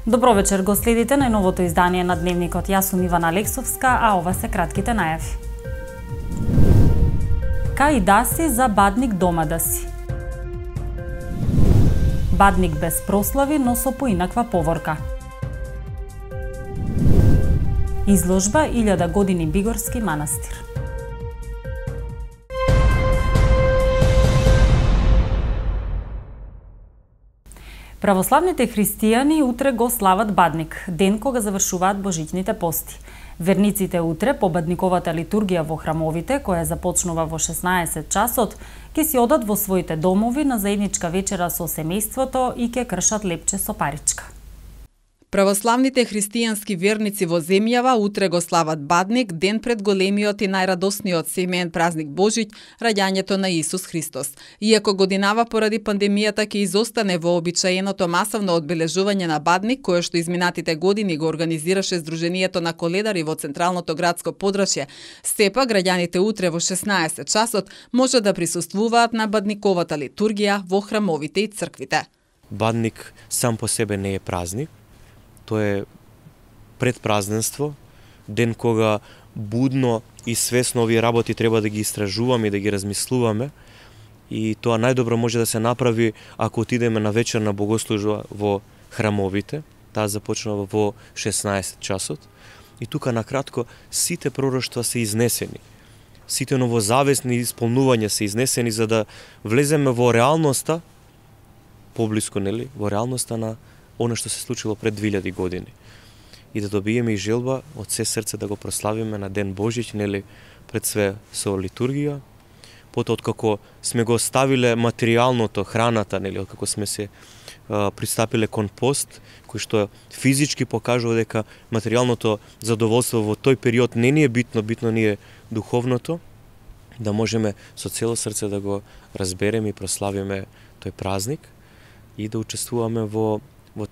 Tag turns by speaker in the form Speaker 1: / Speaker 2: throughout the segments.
Speaker 1: Добро вечер, го следите најновото издание на Дневникот. Јас сум Ивана Алексовска, а ова се кратките најави. Кај да си за бадник дома да си. Бадник без прослави, но со поинаква поворка. Изложба 1000 години Бигорски манастир. Православните христијани утре го слават Бадник, ден кога завршуваат божичните пости. Верниците утре по бадниковата литургија во храмовите, која започнува во 16 часот, ќе си одат во своите домови на заедничка вечера со семејството и ќе кршат лепче со паричка.
Speaker 2: Православните христијански верници во земјава утре го слават Бадник, ден пред големиот и најрадосниот семеен празник Божиќ, раѓањето на Исус Христос. Иако годинава поради пандемијата ќе изостане вообичаеното масовно одбележување на Бадник, кое што изминатите години го организираше Сдруженијето на коледари во Централното градско подрачје, сепак граѓаните утре во 16 часот може да присуствуваат на бадниковата литургија во храмовите и црквите.
Speaker 3: Бадник сам по себе не е празник. Тоа е предпразненство, ден кога будно и свесно овие работи треба да ги истражуваме и да ги размислуваме. И тоа најдобро може да се направи ако отидеме на вечерна богослужба во храмовите. Таа започнува во 16 часот. И тука накратко сите пророштва се изнесени. Сите новозавесни исполнувања се изнесени за да влеземе во реалноста, поблиску, нели, во реалноста на оно што се случило пред 2000 години. И да добиеме и желба од се срце да го прославиме на Ден Божиќ, нели, пред све со литургија. Потоа откако сме го ставиле материјалното, храната, нели, откако сме се пристапиле кон пост, кој што физички покажува дека материјалното задоволство во тој период не ни е битно, битно ни е духовното, да можеме со цело срце да го разбереме и прославиме тој празник и да учествуваме во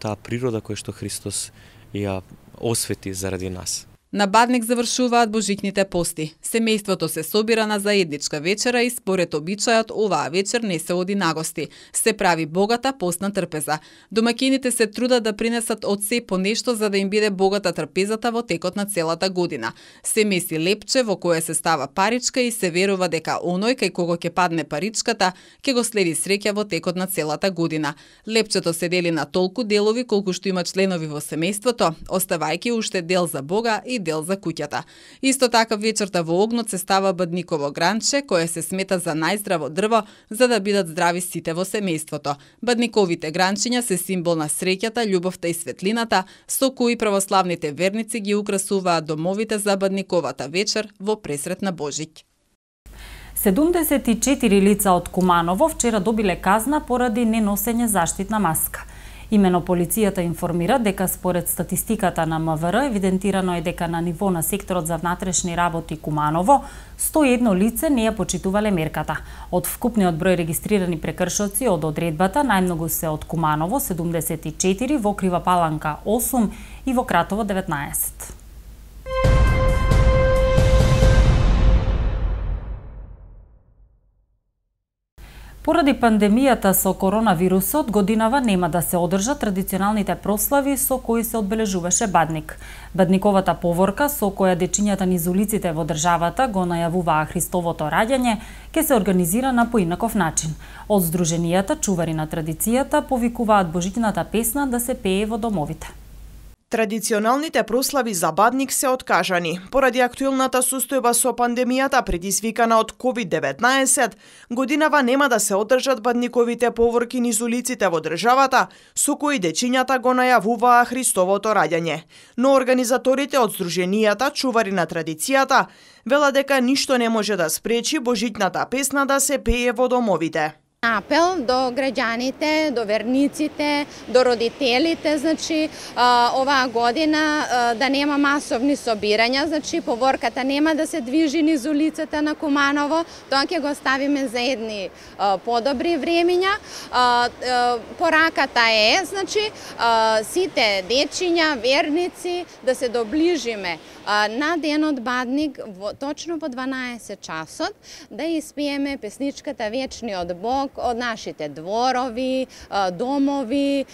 Speaker 3: таа природа која што Христос ја освети заради нас.
Speaker 2: На Бадник завршуваат божичните пости. Семејството се собира на заедничка вечера и според обичајот оваа вечер не се оди на гости. Се прави богата постна трпеза. Домаќините се трудат да принесат од се по нешто за да им биде богата трпезата во текот на целата година. Се меси лепче во кое се става паричка и се верува дека оној кај кого ќе падне паричката ќе го следи среќа во текот на целата година. Лепчето се дели на толку делови колку што има членови во семејството, оставајќи уште дел за Бога и дел за куќата. Исто така вечерта во огнот се става бадниково гранче, кое се смета за најздраво дрво, за да бидат здрави сите во семејството. Бадниковите гранчиња се символ на среќата, љубовта и светлината, со кои православните верници ги украсуваат домовите за бадниковата вечер во пресрет на Божиќ.
Speaker 1: 74 лица од Куманово вчера добиле казна поради неносење заштитна маска. Имено полицијата информира дека според статистиката на МВР евидентирано е дека на ниво на секторот за внатрешни работи Куманово 101 лице не ја почитувале мерката. Од вкупниот број регистрирани прекршоци од одредбата најмногу се од Куманово 74, во Крива Паланка 8 и во Кратово 19. Поради пандемијата со коронавирусот, годинава нема да се одржат традиционалните прослави со кои се одбележуваше Бадник. Бадниковата поворка со која дечињата низ улиците во државата го најавуваа Христовото раѓање ќе се организира на поинаков начин. Од Сдруженијата чувари на традицијата повикуваат божичната песна да се пее во домовите.
Speaker 4: Традиционалните прослави за Бадник се откажани. Поради актуелната состојба со пандемијата предизвикана од COVID-19, годинава нема да се одржат бадниковите поворки низ улиците во државата, со кои дечињата го најавуваа Христовото раѓање. Но организаторите од Сдруженијата чувари на традицијата велат дека ништо не може да спречи божичната песна да се пее во домовите.
Speaker 5: Апел до граѓаните, до верниците, до родителите, значи оваа година да нема масовни собирања, значи поворката нема да се движи низ улицата на Куманово, тоа ќе го ставиме за едни подобри времиња. Пораката е, значи сите дечиња, верници да се доближиме на денот Бадник точно по 12 часот да испиеме песничката Вечниот Бог, од нашите дворови, домови,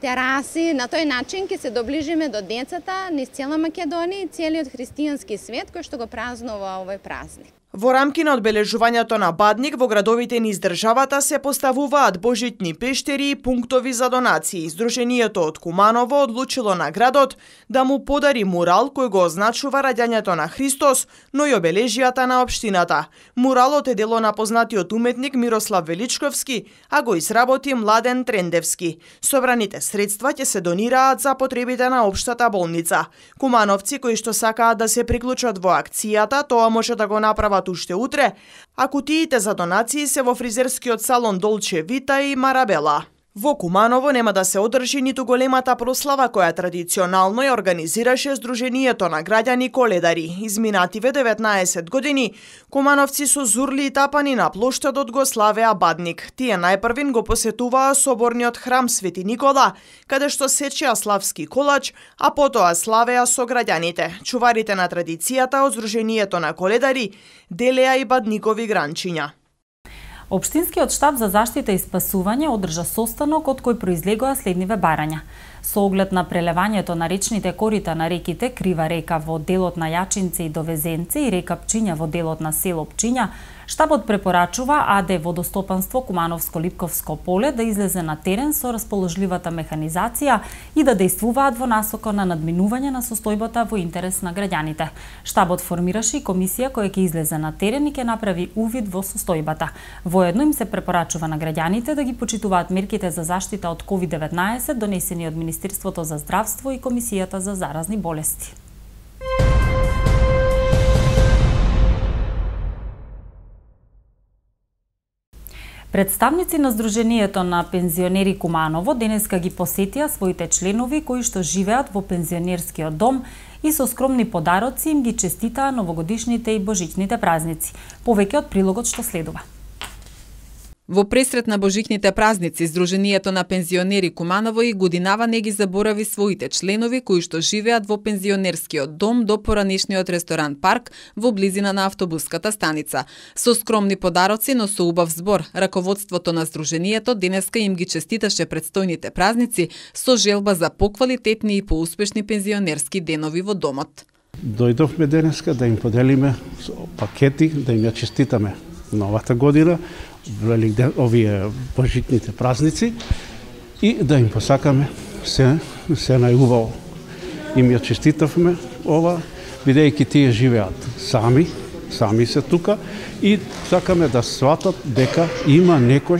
Speaker 5: тераси. На тој начин ќе се доближиме до децата низ цела Македонија и целиот христијански свет кој што го празнува овој празник.
Speaker 4: Во рамки на одбележувањето на Бадник во градовите низ државата се поставуваат божитни пештери и пунктови за донации. Сдруженијето од Куманово одлучило на градот да му подари мурал кој го означува раѓањето на Христос, но и обележијата на општината. Муралот е дело на познатиот уметник Мирослав Величковски, а го изработи Младен Трендевски. Собраните средства ќе се донираат за потребите на општата болница. Кумановци кои што сакаат да се приклучат во акцијата, тоа може да го направат уште утре, а кутиите за донации се во фризерскиот салон Долче Вита и Марабела. Во Куманово нема да се одржи ниту големата прослава која традиционално ја организираше Сдруженијето на граѓани Коледари. Изминативе 19 години кумановци со зурли и тапани на плоштадот го славеа Бадник. Тие најпрвин го посетуваа соборниот храм Свети Никола, каде што сечеа славски колач, а потоа славеа со граѓаните. Чуварите на традицијата од Сдруженијето на Коледари делеа и бадникови гранчиња.
Speaker 1: Општинскиот штаб за заштита и спасување одржа состанок од кој произлегоа следниве барања. Со оглед на прелевањето на речните корита на реките Крива река во делот на Јачинце и Довезенце и река Пчиња во делот на село Пчиња, штабот препорачува АД Водостопанство Кумановско-Липковско поле да излезе на терен со расположливата механизација и да дејствуваат во насока на надминување на состојбата во интерес на граѓаните. Штабот формираше и комисија која ќе излезе на терен и ќе направи увид во состојбата. Воедно им се препорачува на граѓаните да ги почитуваат мерките за заштита од COVID-19 донесени од Министерството за здравство и Комисијата за заразни болести. Представници на Сдруженијето на пензионери Куманово денеска ги посетија своите членови кои што живеат во пензионерскиот дом и со скромни подароци им ги честитаа новогодишните и божичните празници. Повеќе од прилогот што следува.
Speaker 2: Во пресрет на божичните празници, Сдруженијето на пензионери Куманово и годинава не ги заборави своите членови кои што живеат во пензионерскиот дом до поранешниот ресторан Парк во близина на автобуската станица. Со скромни подароци, но со убав збор, раководството на Сдруженијето денеска им ги честиташе предстојните празници со желба за поквалитетни и поуспешни пензионерски денови во домот.
Speaker 6: Дојдовме денеска да им поделиме пакети, да им ја честитаме новата година, овие божитните празници и да им посакаме се најубаво. Им ја честитавме ова, бидејќи тие живеат сами се тука и сакаме да сватат дека има некој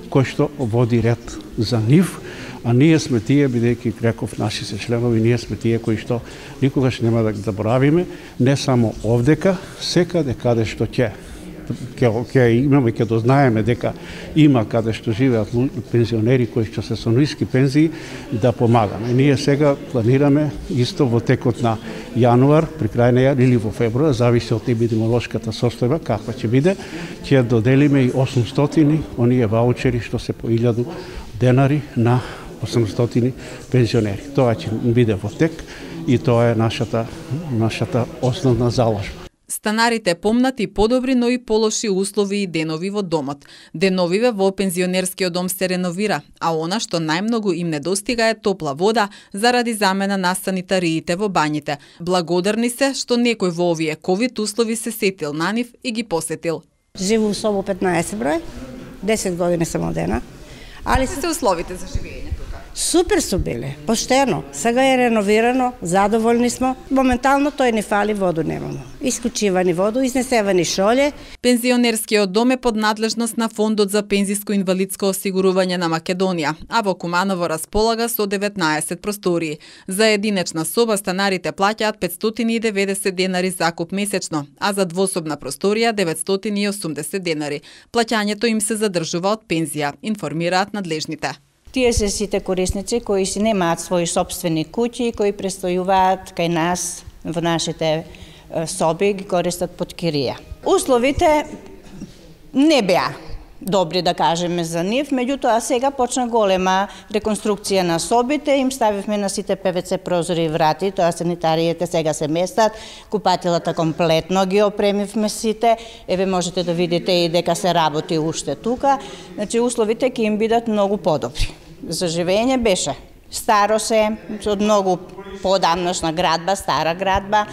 Speaker 6: кој што води ред за нив, а ние сме тие, бидејќи реков наши се членови, ние сме тие кои што никогаш нема да заборавиме, не само овдека, секаде каде што ќе имаме, ќе дознаеме дека има каде што живеат пензионери кои што се со ниски пензии, да помагаме. Ние сега планираме исто во текот на јануар, при крај на јануар или во февруар, зависи од епидемиолошката состојба каква ќе биде, ќе доделиме и 800 оние ваучери што се по 1000 денари на 800 пензионери. Тоа ќе биде во тек и тоа е нашата основна заложба.
Speaker 2: Станарите помнат и подобри, но и полоши услови и денови во домот. Деновиве во пензионерскиот дом се реновира, а она што најмногу им недостига е топла вода заради замена на санитариите во бањите. Благодарни се што некој во овие ковид услови се сетил на нив и ги посетил.
Speaker 7: Живу в собо 15 број, 10 години сам одена.
Speaker 2: Али се условите за живење тука?
Speaker 7: Супер су биле, поштено. Сега е реновирано, задоволни смо. Моментално тој не фали, воду немамо. Исклучивани воду, изнесевани шолје.
Speaker 2: Пензионерскиот дом е под надлежност на Фондот за пензиско-инвалидско осигурување на Македонија, а во Куманово располага со 19 простории. За единечна соба станарите плаќаат 590 денари закуп месечно, а за двособна просторија 980 денари. Плаќањето им се задржува од пензија, информираат надлежните.
Speaker 8: Тие се сите корисници кои си немаат своји сопствени куќи, кои престојуваат кај нас во нашите соби, ги користат под кирија. Условите не беа добри, да кажеме, за нив. Меѓутоа, сега почна голема реконструкција на собите, им ставивме на сите ПВЦ прозори и врати, тоа санитариите сега се местат, купатилата комплетно ги опремивме сите, еве можете да видите и дека се работи уште тука, значи условите ќе им бидат многу подобри. За живење беше старо се, од многу поодамнашна градба, стара градба,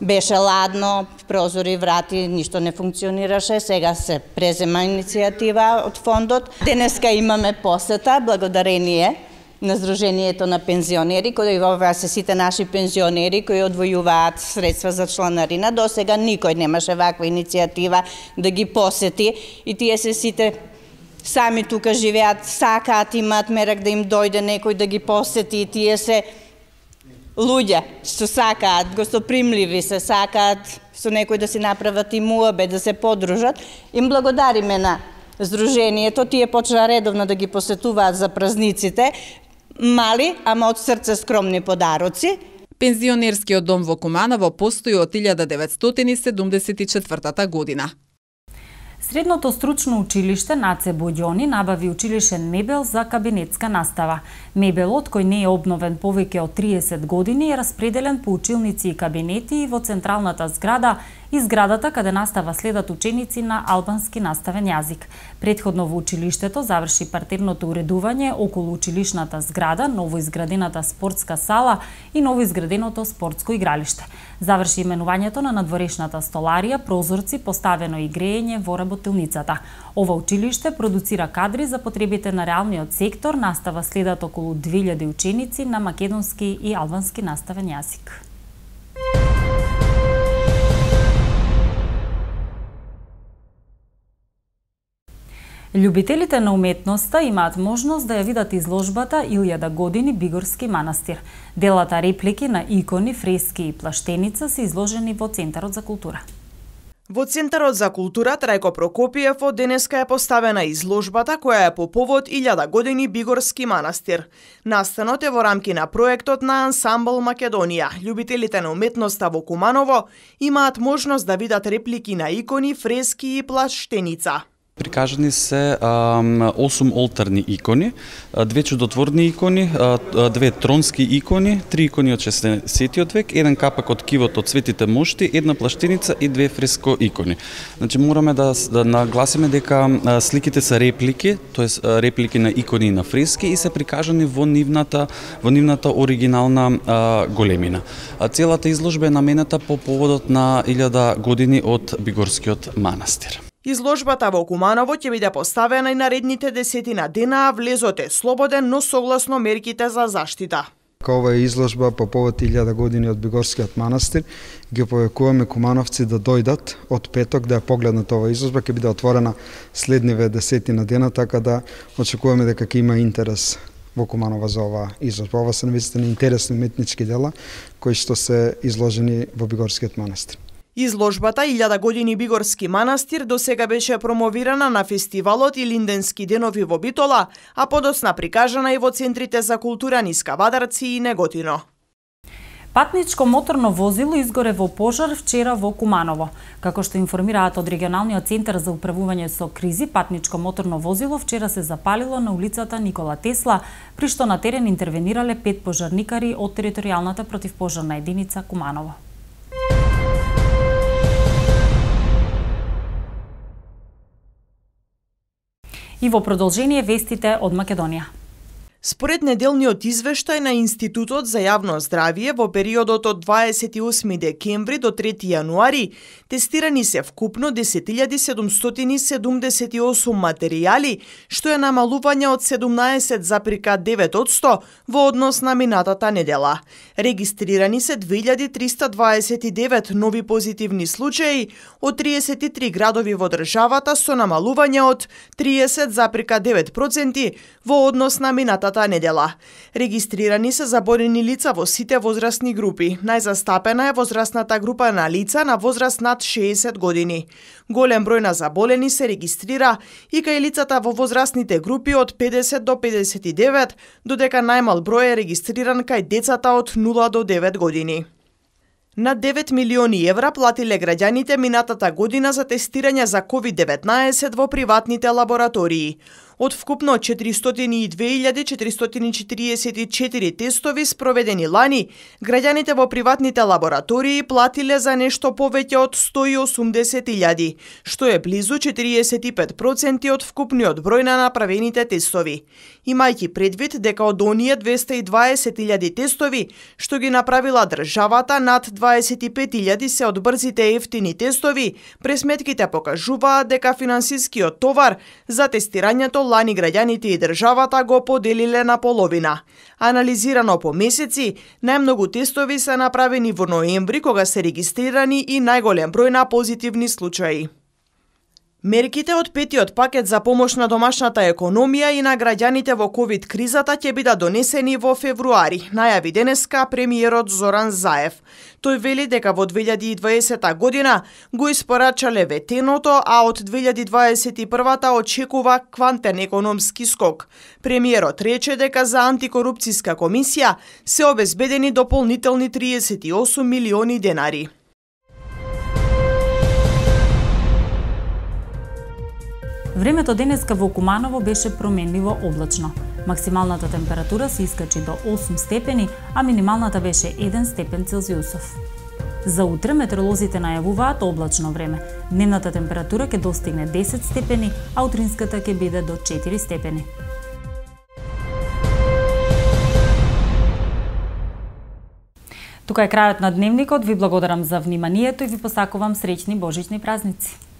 Speaker 8: беше ладно, прозори и врати, ништо не функционираше, сега се презема иницијатива од фондот. Денеска имаме посета, благодарение на Сдруженијето на пензионери, кои ова се сите наши пензионери кои одвојуваат средства за чланарина. До сега никој немаше ваква иницијатива да ги посети и тие се сите сами тука живеат, сакаат, имаат мерак да им дојде некој да ги посети, тие се луѓе што сакаат, гостопримливи се, сакаат со некој да си направат и муабет, да се подружат. Им благодариме на Сдруженијето, тие почна редовно да ги посетуваат за празниците, мали, ама од срце скромни подароци.
Speaker 2: Пензионерскиот дом во Куманово постои од 1974 година.
Speaker 1: Средното стручно училиште Наце Боѓони набави училишен мебел за кабинетска настава. Мебелот, кој не е обновен повеќе од 30 години, е распределен по училници и кабинети и во централната зграда и зградата каде настава следат ученици на албански наставен јазик. Претходно во училиштето заврши партерното уредување околу училишната зграда, новоизградената спортска сала и новоизграденото спортско игралиште. Заврши именувањето на надворешната столарија, прозорци, поставено и грејење во работилницата. Ова училиште продуцира кадри за потребите на реалниот сектор, настава следат околу 2000 ученици на македонски и албански наставен јазик. Љубителите на уметноста имаат можност да ја видат изложбата 1000 години Бигорски манастир. Делата реплики на икони, фрески и плаштеница се изложени во Центарот за култура.
Speaker 4: Во Центарот за култура Трајко Прокопиев денеска е поставена изложбата која е по повод 1000 години Бигорски манастир. Настанот е во рамки на проектот на Ансамбл Македонија. Љубителите на уметноста во Куманово имаат можност да видат реплики на икони, фрески и плаштеница.
Speaker 9: Прикажани се 8 олтарни икони, 2 чудотворни икони, 2 тронски икони, 3 икони од 16 век, 1 капак од кивот од Светите мошти, 1 плаштеница и 2 фреско икони. Значи мораме да нагласиме дека сликите се реплики, тоест реплики на икони и на фрески и се прикажани во нивната оригинална големина. Целата изложба е наменета по поводот на 1000 години од Бигорскиот манастир.
Speaker 4: Изложбата во Куманово ќе биде поставена и наредните 10 дена, а влезот е слободен, но согласно мерките за заштита.
Speaker 10: Ова е изложба по повод 1000 години од Бигорскиот манастир. Ги повекуваме кумановци да дојдат од петок да ја погледнат ова изложба, ќе биде отворена следниве 10 дена, така да очекуваме дека ќе има интерес во Куманово за ова изложба. Ова се навистина интересни уметнички дела кои што се изложени во Бигорскиот манастир.
Speaker 4: Изложбата 1000 години Бигорски манастир досега беше промовирана на фестивалот и Линденски денови во Битола, а подоцна прикажана и во центрите за култура низ Кавадарци и Неготино.
Speaker 1: Патничко моторно возило изгоре во пожар вчера во Куманово. Како што информираат од регионалниот центар за управување со кризи, патничко моторно возило вчера се запалило на улицата Никола Тесла, при што на терен интервенирале 5 пожарникари од територијалната противпожарна единица Куманово. И во продолжение вестите од Македонија.
Speaker 4: Според неделниот извештај на Институтот за јавно здравје, во периодот од 28 декември до 3 јануари, тестирани се вкупно 10.778 материјали, што е намалување од 17,9% во однос на минатата недела. Регистрирани се 2329 нови позитивни случаи од 33 градови во државата со намалување од 30,9% во однос на минатата недела. Регистрирани се заболени лица во сите возрастни групи. Најзастапена е возрастната група на лица на возраст над 60 години. Голем број на заболени се регистрира и кај лицата во возрастните групи од 50 до 59, додека најмал број е регистриран кај децата од 0 до 9 години. На 9 милиони евра платиле граѓаните минатата година за тестирање за COVID-19 во приватните лаборатории. Од вкупно 402.444 тестови спроведени лани, граѓаните во приватните лаборатории платиле за нешто повеќе од 180.000, што е близу 45% од вкупниот број на направените тестови. Имајќи предвид дека од оние 220.000 тестови, што ги направила државата, над 25.000 се од брзите ефтини тестови, пресметките покажуваат дека финансискиот товар за тестирањето лани граѓаните и државата го поделиле на половина. Анализирано по месеци, најмногу тестови се направени во ноември, кога се регистрирани и најголем број на позитивни случаи. Мерките од петиот пакет за помош на домашната економија и на граѓаните во ковид кризата ќе бидат донесени во февруари, најави денеска премиерот Зоран Заев. Тој вели дека во 2020 година го испорачале ветеното, а од 2021 очекува квантен економски скок. Премиерот рече дека за антикорупцијска комисија се обезбедени дополнителни 38 милиони денари.
Speaker 1: Времето денеска во Куманово беше променливо облачно. Максималната температура се искачи до 8 степени, а минималната беше 1 степен Целзиусов. За утре метеоролозите најавуваат облачно време. Дневната температура ќе достигне 10 степени, а утринската ќе биде до 4 степени. Тука е крајот на дневникот. Ви благодарам за вниманието и ви посакувам среќни божични празници.